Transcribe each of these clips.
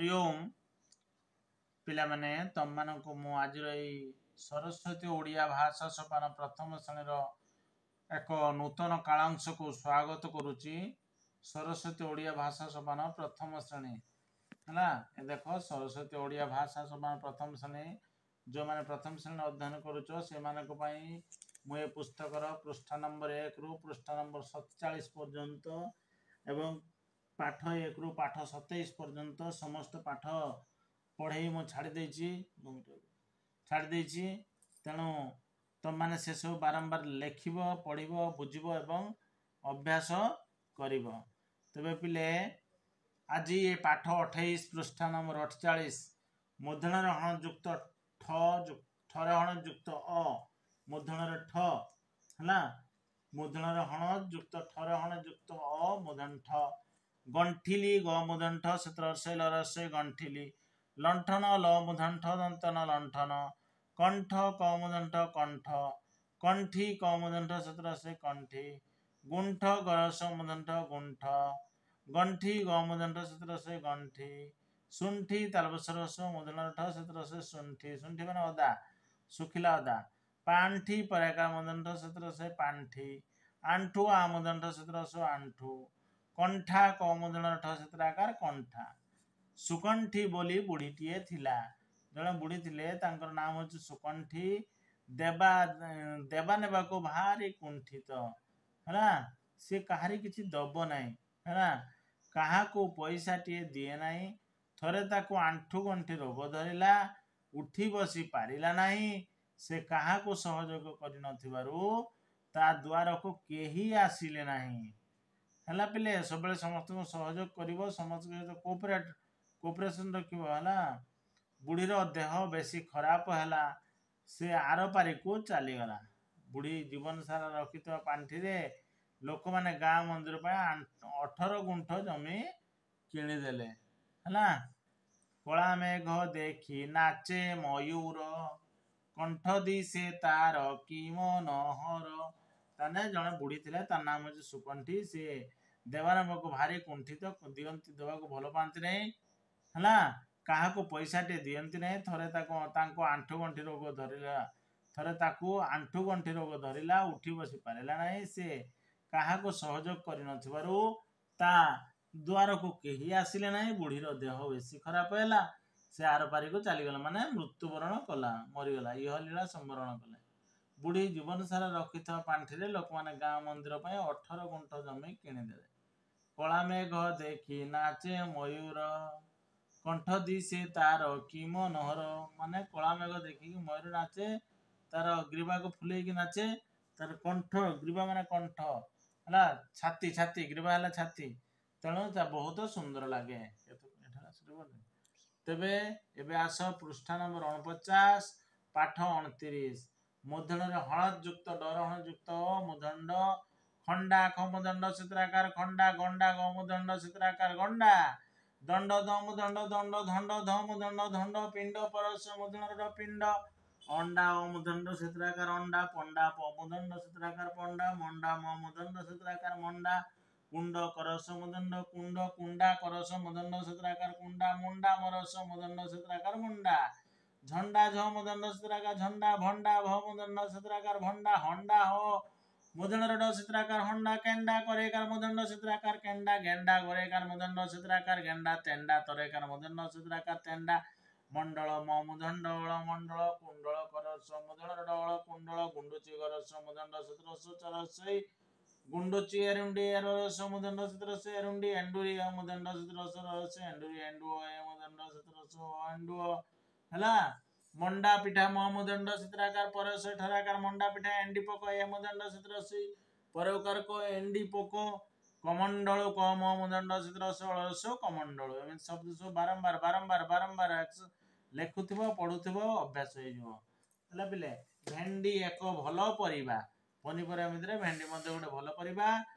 ହରିଓମ ପିଲାମାନେ, ତମମାନଙ୍କୁ ମୁଁ ଆଜିର ଏଇ ସରସ୍ୱତୀ ଓଡ଼ିଆ ଭାଷା ସୋପାନ ପ୍ରଥମ ଶ୍ରେଣୀର ଏକ ନୂତନ କାଳାଂଶକୁ ସ୍ୱାଗତ କରୁଛି। ସରସ୍ୱତୀ ଓଡ଼ିଆ ଭାଷା ସୋପାନ ପ୍ରଥମ ଶ୍ରେଣୀ ହେଲା। ଏ ଦେଖ, ସରସ୍ୱତୀ ଓଡ଼ିଆ ଭାଷା ସୋପାନ ପ୍ରଥମ ଶ୍ରେଣୀ, ଯେଉଁମାନେ ପ୍ରଥମ ଶ୍ରେଣୀ ଅଧ୍ୟୟନ କରୁଛ ସେମାନଙ୍କ ପାଇଁ ମୁଁ ଏ ପୁସ୍ତକର ପୃଷ୍ଠା ନମ୍ବର 1ରୁ ପୃଷ୍ଠା ନମ୍ବର 47 ପର୍ଯ୍ୟନ୍ତ ଏବଂ ପାଠ 1ରୁ ପାଠ 27 ପର୍ଯ୍ୟନ୍ତ ସମସ୍ତ ପାଠ ପଢ଼େଇ ମୁଁ ଛାଡ଼ି ଦେଇଛି। ତେଣୁ ତମମାନେ ସେସବୁ ବାରମ୍ବାର ଲେଖିବ, ପଢ଼ିବ, ବୁଝିବ ଏବଂ ଅଭ୍ୟାସ କରିବ। ତେବେ ପିଲେ, ଆଜି ଏ ପାଠ 28 ପୃଷ୍ଠା ନମ୍ବର 48, ମୂର୍ଦ୍ଧନ୍ୟରେ ହଣ ଯୁକ୍ତ ଠ, ଠରେ ହଣ ଯୁକ୍ତ ଅ, ମୂର୍ଦ୍ଧନ୍ୟରେ ଠ ହେଲା। ମୂର୍ଦ୍ଧନ୍ୟରେ ହଣ ଯୁକ୍ତ ଠରେ ହଣ ଯୁକ୍ତ ଅ, ମୂର୍ଦ୍ଧନ୍ୟ ଠ। ଗଣ୍ଠିଲି ଗ ମୂର୍ଦ୍ଧନ୍ୟ ଠ, ସେଥିରେ ରସେଇ ଲ ରସେଇ ଗଣ୍ଠିଲି। ଲଣ୍ଠନ ଲ ମୂର୍ଦ୍ଧନ୍ୟ ଠ, ଦନ୍ତନ ଲଣ୍ଠନ। କଣ୍ଠ କ ମୂର୍ଦ୍ଧନ୍ୟ ଠ କଣ୍ଠ। କଣ୍ଠି କ ମୂର୍ଦ୍ଧନ୍ୟ ଠ, ସେଥିରେ ରସେଇ କଣ୍ଠି। ଗୁଣ୍ଠ ଗରସ ମୂର୍ଦ୍ଧନ୍ୟ ଠ ଗୁଣ୍ଠ। ଗଣ୍ଠି ଗ ମୂର୍ଦ୍ଧନ୍ୟ ଠ, ସେଥିରେ ରସେଇ ଗଣ୍ଠି। ଶୁଣ୍ଠି ତାଲବସରସ ମୂର୍ଦ୍ଧନ୍ୟ ଠ, ସେଥିରେ ରସେଇ ଶୁଣ୍ଠି। ଶୁଣ୍ଠି ମାନେ ଅଦା, ଶୁଖିଲା ଅଦା। ପାଣ୍ଠି ପରାକାର ମୂର୍ଦ୍ଧନ୍ୟ ଠ, ସେଥିରେ ରସେଇ ପାଣ୍ଠି। ଆଣ୍ଠୁ ଆ ମୂର୍ଦ୍ଧନ୍ୟ ଠ, ସେଥିରେ ରସ ଆଣ୍ଠୁ। କଣ୍ଠା କ ମୂର୍ଦ୍ଧନ୍ୟ ଠ, ସେଥିରେ ଆକାର କଣ୍ଠା। ସୁକଣ୍ଠି ବୋଲି ବୁଢ଼ୀଟିଏ ଥିଲା। ଜଣେ ବୁଢ଼ୀ ଥିଲେ, ତାଙ୍କର ନାମ ହେଉଛି ସୁକଣ୍ଠି। ଦେବା ଦେବା ନେବାକୁ ଭାରି କୁଣ୍ଠିତ ହେଲା। ସେ କାହାରି କିଛି ଦବ ନାହିଁ ହେଲା, କାହାକୁ ପଇସାଟିଏ ଦିଏ ନାହିଁ। ଥରେ ତାକୁ ଆଣ୍ଠୁ ଗଣ୍ଠି ରୋଗ ଧରିଲା, ଉଠି ବସି ପାରିଲା ନାହିଁ। ସେ କାହାକୁ ସହଯୋଗ କରିନଥିବାରୁ ତା ଦୁଆରକୁ କେହି ଆସିଲେ ନାହିଁ। ହେଲା ପିଲେ, ସବୁବେଳେ ସମସ୍ତଙ୍କୁ ସହଯୋଗ କରିବ, ସମସ୍ତଙ୍କ ସହିତ କୋଅପରେସନ ରଖିବ ହେଲା। ବୁଢ଼ୀର ଦେହ ବେଶୀ ଖରାପ ହେଲା, ସେ ଆରପାରିକୁ ଚାଲିଗଲା। ବୁଢ଼ୀ ଜୀବନ ସାରା ରଖିଥିବା ପାଣ୍ଠିରେ ଲୋକମାନେ ଗାଁ ମନ୍ଦିର ପାଇଁ 18 ଗୁଣ୍ଠ ଜମି କିଣିଦେଲେ ହେଲା। କଳା ମେଘ ଦେଖି ନାଚେ ମୟୂର, କଣ୍ଠ ଦିଶେ ତାର କି ମନୋହର। ତାହେଲେ ଜଣେ ବୁଢ଼ୀ ଥିଲେ, ତା ନାମ ହେଉଛି ସୁକଣ୍ଠି। ସେ ଦେବାନବାକୁ ଭାରି କୁଣ୍ଠିତ, ଦିଅନ୍ତି ଦେବାକୁ ଭଲ ପାଆନ୍ତି ନାହିଁ ହେଲା, କାହାକୁ ପଇସାଟିଏ ଦିଅନ୍ତି ନାହିଁ। ଥରେ ତାକୁ ତାଙ୍କୁ ଆଣ୍ଠୁ ଗଣ୍ଠି ରୋଗ ଧରିଲା, ଥରେ ତାକୁ ଆଣ୍ଠୁ ଗଣ୍ଠି ରୋଗ ଧରିଲା, ଉଠି ବସି ପାରିଲା ନାହିଁ। ସେ କାହାକୁ ସହଯୋଗ କରିନଥିବାରୁ ତା ଦୁଆରକୁ କେହି ଆସିଲେ ନାହିଁ। ବୁଢ଼ୀର ଦେହ ବେଶୀ ଖରାପ ହେଲା, ସେ ଆରପାରିକୁ ଚାଲିଗଲା, ମାନେ ମୃତ୍ୟୁବରଣ କଲା, ମରିଗଲା, ଇହଲୀଳା ସମ୍ବରଣ କଲେ। ବୁଢ଼ୀ ଜୀବନ ସାରା ରଖିଥିବା ପାଣ୍ଠିରେ ଲୋକମାନେ ଗାଁ ମନ୍ଦିର ପାଇଁ 18 ଗୁଣ୍ଠ ଜମି କିଣିଦେଲେ। କଳା ମେଘ ଦେଖି ନାଚେ ମୟୂର, କଣ୍ଠ ଦିଶେ ତାର କି ମନୋହର। ମାନେ କଳା ମେଘ ଦେଖିକି ମୟୂର ନାଚେ, ତାର ଗ୍ରୀବାକୁ ଫୁଲେଇକି ନାଚେ। ତାର କଣ୍ଠ, ଗ୍ରୀବା ମାନେ କଣ୍ଠ ହେଲା, ଛାତି, ଛାତି, ଗ୍ରୀବା ହେଲା ଛାତି। ତେଣୁ ତା ବହୁତ ସୁନ୍ଦର ଲାଗେ। ତେବେ ଏବେ ଆସ ପୃଷ୍ଠା ନମ୍ବର 49, ପାଠ 29। ମୂର୍ଦ୍ଧନ୍ୟରେ ହଳଦ ଯୁକ୍ତ ଡର ହଣ ଯୁକ୍ତ ମୂର୍ଦ୍ଧଣ୍ଡ। ଖଣ୍ଡା ଖ ମୂର୍ଦ୍ଧଣ୍ଡ ଚିତ୍ରାକାର ଖଣ୍ଡା। ଗଣ୍ଡା ଗ ମୂର୍ଦ୍ଧଣ୍ଡ ଚିତ୍ରାକାର ଗଣ୍ଡା। ଦଣ୍ଡ ଦ ମୂର୍ଦ୍ଧଣ୍ଡ ଦଣ୍ଡ। ଧଣ୍ଡ ଧ ମୂର୍ଦ୍ଧଣ୍ଡ ଧଣ୍ଡ। ପିଣ୍ଡ ପରଶ ମୂର୍ଦ୍ଧଣ୍ଡ ପିଣ୍ଡ। ଅଣ୍ଡା ଅ ମୂର୍ଦ୍ଧଣ୍ଡ ଚିତ୍ରାକାର ଅଣ୍ଡା। ପଣ୍ଡା ପ ମୂର୍ଦ୍ଧଣ୍ଡ ଚିତ୍ରାକାର ପଣ୍ଡା। ମଣ୍ଡା ମ ମୂର୍ଦ୍ଧଣ୍ଡ ଚିତ୍ରାକାର ମଣ୍ଡା। କୁଣ୍ଡ କରସ ମୂର୍ଦ୍ଧଣ୍ଡ କୁଣ୍ଡ। କୁଣ୍ଡା କରସ ମୂର୍ଦ୍ଧଣ୍ଡ ଚିତ୍ରାକାର କୁଣ୍ଡା। ମୁଣ୍ଡା ମରସ ମୂର୍ଦ୍ଧଣ୍ଡ ଚିତ୍ରାକାର ମୁଣ୍ଡା। ଝଣ୍ଡା ଝ ମୂର୍ଦ୍ଧଣ୍ଡ ଚିତ୍ରାକାର ଝଣ୍ଡା। ଭଣ୍ଡା ଭ ମୂର୍ଦ୍ଧଣ୍ଡ ଚିତ୍ରାକାର ଭଣ୍ଡା। ହଣ୍ଡା ହ ମୂର୍ଦ୍ଧଣ୍ଡ ଡ ଚିତ୍ରାକାର ହଣ୍ଡା। କେଣ୍ଡା କରେକାର ମୂର୍ଦ୍ଧଣ୍ଡ ଚିତ୍ରାକାର କେଣ୍ଡା। ଗେଣ୍ଡା ଗରେକାର ମୂର୍ଦ୍ଧଣ୍ଡ ଚିତ୍ରାକାର ଗେଣ୍ଡା। ତେଣ୍ଡା ତରେକାର ମୂର୍ଦ୍ଧଣ୍ଡ ଚିତ୍ରାକାର ତେଣ୍ଡା। ମଣ୍ଡଳ ମ ମୂର୍ଦ୍ଧଣ୍ଡ ଅଳ ମଣ୍ଡଳ। କୁଣ୍ଡଳ କରସ ମୂର୍ଦ୍ଧଣ୍ଡ ଡ କୁଣ୍ଡଳ। ଗୁଣ୍ଡୁଚି ଗରସ ମୂର୍ଦ୍ଧଣ୍ଡ ଚିତ୍ରସ ଚରସଇ ଗୁଣ୍ଡୁଚି। ଏରୁଣ୍ଡି ଏରସ ମୂର୍ଦ୍ଧଣ୍ଡ ଚିତ୍ରସ ଏରୁଣ୍ଡି। ଏଣ୍ଡୁରି ଅ ମୂର୍ଦ୍ଧଣ୍ଡ ଚିତ୍ରସ ରସ ଏଣ୍ଡୁରି। ଏଣ୍ଡୁଅ ଏ ମୂର୍ଦ୍ଧଣ୍ଡ ଚିତ୍ରସ ଏଣ୍ଡୁଅ ହେଲା। ମଣ୍ଡା ପିଠା ମ ମୂର୍ଦ୍ଧଣ୍ଡ ଚିତ୍ରାକାର ପରସ ଠରାକାର ମଣ୍ଡା ପିଠା। ଏଣ୍ଡି ପୋକ ଏ ମୂର୍ଦ୍ଧଣ୍ଡ ଚିତ୍ରସ ପରକାର କ ଏଣ୍ଡି ପୋକ। କମଣ୍ଡଳ କ ମ ମୂର୍ଦ୍ଧଣ୍ଡ ଚିତ୍ରସ ଅଳସ କମଣ୍ଡଳ। ଏମିତି ଶବ୍ଦ ସବୁ ବାରମ୍ବାର ବାରମ୍ବାର ବାରମ୍ବାର ଲେଖୁଥିବ, ପଢୁଥିବ, ଅଭ୍ୟାସ ହେଇଯିବ। ହେଲା ପିଲେ, ଭେଣ୍ଡି ଏକ ଭଲ ପରିବା। ପନିପରିବା ଭିତରେ ଭେଣ୍ଡି ମଧ୍ୟ ଗୋଟେ ଭଲ ପରିବା।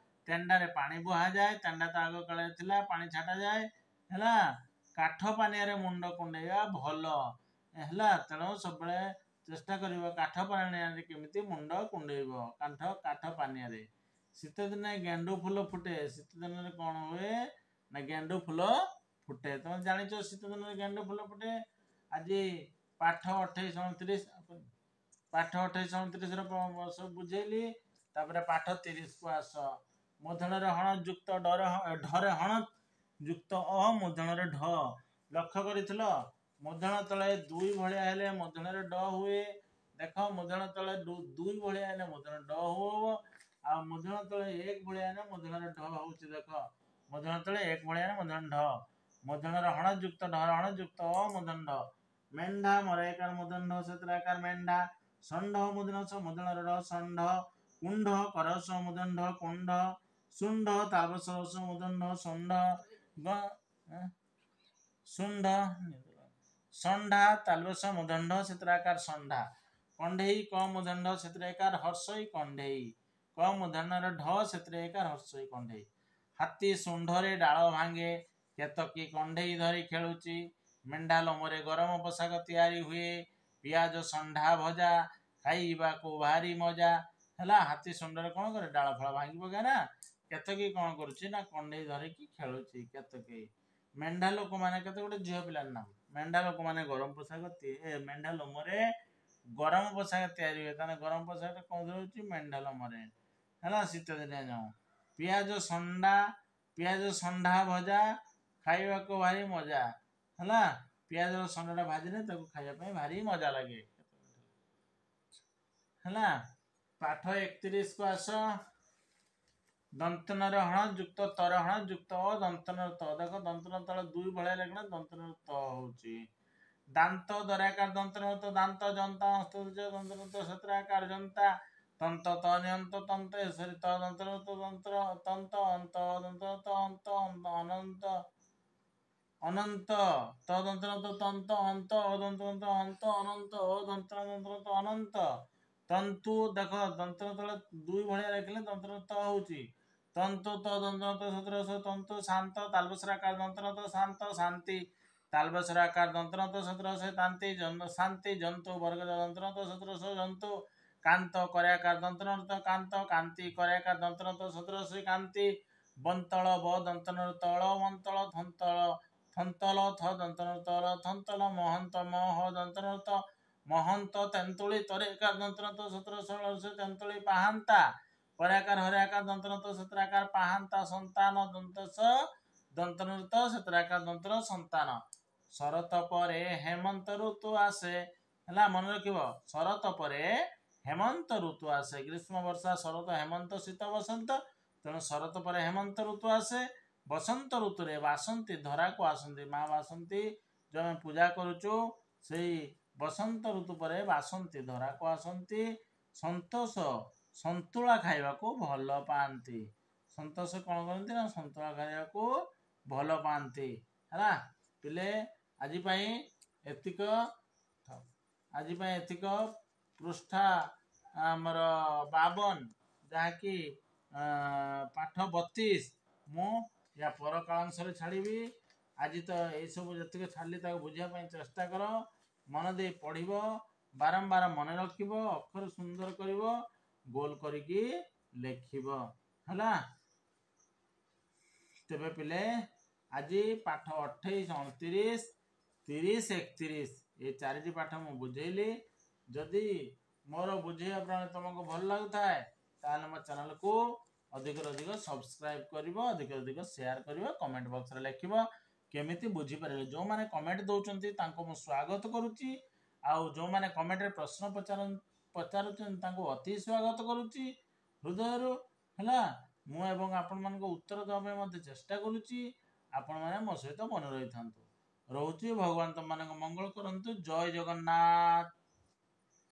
ତେଣ୍ଡାରେ ପାଣି ବୁହାଯାଏ। ତେଣ୍ଡା ତ ଆଗ କାଳରେ ଥିଲା, ପାଣି ଛାଟାଯାଏ ହେଲା। କାଠ ପାନିଆରେ ମୁଣ୍ଡ କୁଣ୍ଡେଇବା ଭଲ ହେଲା। ତେଣୁ ସବୁବେଳେ ଚେଷ୍ଟା କରିବ କାଠ ପାନିଆରେ କେମିତି ମୁଣ୍ଡ କୁଣ୍ଡେଇବ, କାଠ ପାନିଆରେ। ଶୀତ ଦିନେ ଗେଣ୍ଡୁ ଫୁଲ ଫୁଟେ। ଶୀତ ଦିନରେ କଣ ହୁଏ ନା ଗେଣ୍ଡୁ ଫୁଲ ଫୁଟେ। ତମେ ଜାଣିଛ ଶୀତ ଦିନରେ ଗେଣ୍ଡୁ ଫୁଲ ଫୁଟେ। ଆଜି ପାଠ 28 29, ପାଠ 28 29ର ସବୁ ବୁଝେଇଲି। ତାପରେ ପାଠ 30କୁ ଆସ। ମୂର୍ଦ୍ଧନରେ ହଣ ଯୁକ୍ତ ଡର, ଢରେ ହଣ ଯୁକ୍ତ ଅ, ମୂର୍ଦ୍ଧନରେ ଢ। ଲକ୍ଷ୍ୟ କରିଥିଲ, ମୂର୍ଦ୍ଧନ ତଳେ ଦୁଇ ଭଳିଆ ହେଲେ ମୂର୍ଦ୍ଧନରେ ଡ ହୁଏ। ଦେଖ, ମୂର୍ଦ୍ଧନ ତଳେ ଦୁଇ ଭଳିଆ ହେଲେ ମୂର୍ଦ୍ଧନ ଡ ହବ, ଆଉ ମୂର୍ଦ୍ଧନ ତଳେ ଏକ ଭଳିଆ ହେଲେ ମୂର୍ଦ୍ଧନରେ ଢ ହଉଛି। ଦେଖ, ମୂର୍ଦ୍ଧନ ତଳେ ଏକ ଭଳିଆ ହେଲେ ମୂର୍ଦ୍ଧନ ଢ। ମୂର୍ଦ୍ଧନରେ ହଣ ଯୁକ୍ତ ଢର ହଣ ଯୁକ୍ତ ଅ, ମୂର୍ଦ୍ଧନ ଢ। ମେଣ୍ଢା, ମରେକାର ମୂର୍ଦ୍ଧନ ଢ ସେଥିରେ ଆକାର ମେଣ୍ଢା। ଷଣ୍ଢ, ମୂର୍ଦ୍ଧନ ସ ମୂର୍ଦ୍ଧନର ଢ ଷଣ୍ଢ। କୁଣ୍ଢ, କରସ ମୂର୍ଦ୍ଧନ ଢ କୁଣ୍ଢ। ଶୁଣ୍ଢ, ତାଳବସ ରସ ମୂର୍ଦ୍ଧନ ଢ ଷଣ୍ଢ। ଶୁଣ୍ଢ, ଷଣ୍ଢା, ତାଲବସ ମୂର୍ଦ୍ଧନ ଢ ସେଥିରେ ଆକାର ଷଣ୍ଢା। କଣ୍ଢେଇ, କ ମୂର୍ଦ୍ଧନ ଢ ସେଥିରେ ଏକାର ହର୍ଷଇ କଣ୍ଢେଇ। କ ମୂର୍ଦ୍ଧନର ଢ ସେଥିରେ ଏକାର ହର୍ଷଇ କଣ୍ଢେଇ। ହାତୀ ଶୁଣ୍ଢରେ ଡାଳ ଭାଙ୍ଗେ, କେତକୀ କଣ୍ଢେଇ ଧରି ଖେଳୁଛି। ମେଣ୍ଢା ଲୋମରେ ଗରମ ପୋଷାକ ତିଆରି ହୁଏ। ପିଆଜ ଷଣ୍ଢା ଭଜା ଖାଇବାକୁ ଭାରି ମଜା। ହେଲା, ହାତୀ ଶୁଣ୍ଢରେ କଣ କରେ? ଡାଳ ଫାଳ ଭାଙ୍ଗି ପକାଏ ନା। କେତକୀ କଣ କରୁଛି ନା କଣ୍ଢେଇ ଧରିକି ଖେଳୁଛି କେତକୀ। ମେଣ୍ଢା ଲୋକମାନେ, କେତେ ଗୋଟେ ଝିଅ ପିଲାର ନାମ। ମେଣ୍ଢା ଲୋକମାନେ ଗରମ ପୋଷାକ, ମେଣ୍ଢା ଲୋମରେ ଗରମ ପୋଷାକ ତିଆରି ହୁଏ। ତାହେଲେ ଗରମ ପୋଷାକଟା କଣ ହଉଛି? ମେଣ୍ଢା ଲୋମରେ। ହେଲା, ଶୀତ ଦିନିଆ ଯାଉ। ପିଆଜ ଷଣ୍ଢା, ପିଆଜ ଷଣ୍ଢା ଭଜା ଖାଇବାକୁ ଭାରି ମଜା। ହେଲା, ପିଆଜ ଷଣ୍ଢାଟା ଭାଜିଲେ ତାକୁ ଖାଇବା ପାଇଁ ଭାରି ମଜା ଲାଗେ। ହେଲା, ପାଠ 31କୁ ଆସ। ଦନ୍ତନରେ ହଣ ଯୁକ୍ତ ତର ହଣ ଯୁକ୍ତ ଅ, ଦନ୍ତନର ତ। ଦେଖ, ଦନ୍ତନ ତଳେ ଦୁଇ ଭଳିଆ ଲେଖିଲେ ଦନ୍ତନର ତ ହଉଛି। ଦାନ୍ତ, ଦରାକାର ଦନ୍ତନ ତ ଦାନ୍ତ। ଜନ୍ତା, ଦନ୍ତନ ତ ସତ୍ରାକାର ଜନ୍ତା। ତନ୍ତ ତ ନିୟନ୍ତ ତନ୍ତ, ସରି, ତ ଦନ୍ତନ ତ ଦନ୍ତ୍ର ତନ୍ତ। ଅନ୍ତ ଦନ୍ତ ତ ଅନ୍ତ, ଅନନ୍ତ, ଅନନ୍ତ। ତ ଦନ୍ତନ ତ ତନ୍ତ ଅନ୍ତ, ଅଦନ୍ତ ତ ଅନ୍ତ ଅନନ୍ତ, ଅ ଦନ୍ତନ ଦନ୍ତନ ତ ଅନନ୍ତ। ତନ୍ତୁ, ଦେଖ, ଦନ୍ତନ ତଳେ ଦୁଇ ଭଳିଆ ଲେଖିଲେ ଦନ୍ତନ ତ ହଉଛି। ତନ୍ତୁ ତ ଦନ୍ତନ ତ ସତର ତନ୍ତୁ ଶାନ୍ତ। ତାଲବସରାକାର ଦନ୍ତନ ତ ଶାନ୍ତ ଶାନ୍ତି। ତାଲବସରାକାର ଦନ୍ତନ ତ ସତର ତାନ୍ତି ଶାନ୍ତି। ଜନ୍ତୁ ବର୍ଗ ଦନ୍ତନ ତ ସତର ଜନ୍ତୁ। କାନ୍ତ, କର୍ୟାକାର ଦନ୍ତନ ତ କାନ୍ତ କାନ୍ତି। କର୍ୟାକାର ଦନ୍ତନ ତ ସତର କାନ୍ତି। ବନ୍ତଳ, ବ ଦନ୍ତନ ତଳ ବନ୍ତଳ ଥନ୍ତଳ ଥନ୍ତଲ। ଥ ଦନ୍ତନ ତଳ ଥନ୍ତଲ। ମହନ୍ତ, ମହ ଦନ୍ତନ ତ ମହନ୍ତ। ତେନ୍ତୁଳି, ତରେକାର ଦନ୍ତନ ତ ସତର ତେନ୍ତୁଳି। ପାହାନ୍ତା, ପରାକାର ହରାକାର ଦନ୍ତନ ତ ସତରାକାର ପାହାନ୍ତା। ସନ୍ତାନ, ଦନ୍ତସ ଦନ୍ତନ ତ ସତରାକାର ଦନ୍ତନ ସନ୍ତାନ। ଶରତ ପରେ ହେମନ୍ତ ଋତୁ ଆସେ। ହେଲା, ମନେ ରଖିବ, ଶରତ ପରେ ହେମନ୍ତ ଋତୁ ଆସେ। ଗ୍ରୀଷ୍ମ, ବର୍ଷା, ଶରତ, ହେମନ୍ତ, ଶୀତ, ବସନ୍ତ। ତେଣୁ ଶରତ ପରେ ହେମନ୍ତ ଋତୁ ଆସେ। ବସନ୍ତ ଋତୁରେ ବାସନ୍ତୀ ଧରାକୁ ଆସନ୍ତି। ମା ବାସନ୍ତୀ ଯୋଉ ଆମେ ପୂଜା କରୁଛୁ, ସେଇ ବସନ୍ତ ଋତୁ ପରେ ବାସନ୍ତୀ ଧରାକୁ ଆସନ୍ତି। ସନ୍ତୋଷ ସନ୍ତୁଳା ଖାଇବାକୁ ଭଲ ପାଆନ୍ତି। ସନ୍ତୋଷ କଣ କରନ୍ତି ନା ସନ୍ତୁଳା ଖାଇବାକୁ ଭଲ ପାଆନ୍ତି। ହେଲା ପିଲେ, ଆଜି ପାଇଁ ଏତିକ। ଆଜି ପାଇଁ ଏତିକ। ପୃଷ୍ଠା ଆମର 52, ଯାହାକି ପାଠ 32, ମୁଁ ୟା ପର କାଳାଂଶରେ ଛାଡ଼ିବି। ଆଜି ତ ଏଇସବୁ ଯେତିକି ଛାଡ଼ିଲି ତାକୁ ବୁଝିବା ପାଇଁ ଚେଷ୍ଟା କର। ମନ ଦେଇ ପଢ଼ିବ, ବାରମ୍ବାର ମନେ ରଖିବ, ଅକ୍ଷର ସୁନ୍ଦର କରିବ, ଗୋଲ କରିକି ଲେଖିବ। ହେଲା, ତେବେ ପିଲେ, ଆଜି ପାଠ 28, 29, 30, 31 ଏ ଚାରିଟି ପାଠ ମୁଁ ବୁଝେଇଲି। ଯଦି ମୋର ବୁଝେଇବା ପ୍ରଣାଳୀ ତୁମକୁ ଭଲ ଲାଗୁଥାଏ, ତାହେଲେ ମୋ ଚ୍ୟାନେଲକୁ ଅଧିକରୁ ଅଧିକ ସବସ୍କ୍ରାଇବ୍ କରିବ, ଅଧିକରୁ ଅଧିକ ସେୟାର କରିବ, କମେଣ୍ଟ ବକ୍ସରେ ଲେଖିବ କେମିତି ବୁଝିପାରିଲେ। ଯେଉଁମାନେ କମେଣ୍ଟ ଦେଉଛନ୍ତି ତାଙ୍କୁ ମୁଁ ସ୍ୱାଗତ କରୁଛି, ଆଉ ଯେଉଁମାନେ କମେଣ୍ଟରେ ପ୍ରଶ୍ନ ପଚାରୁଛନ୍ତି ତାଙ୍କୁ ଅତି ସ୍ୱାଗତ କରୁଛି ହୃଦୟରୁ। ହେଲା, ମୁଁ ଏବଂ ଆପଣମାନଙ୍କୁ ଉତ୍ତର ଦେବା ପାଇଁ ମଧ୍ୟ ଚେଷ୍ଟା କରୁଛି। ଆପଣମାନେ ମୋ ସହିତ ମନେ ରହିଥାନ୍ତୁ। ରହୁଛି, ଭଗବାନ ତମମାନଙ୍କ ମଙ୍ଗଳ କରନ୍ତୁ। ଜୟ ଜଗନ୍ନାଥ।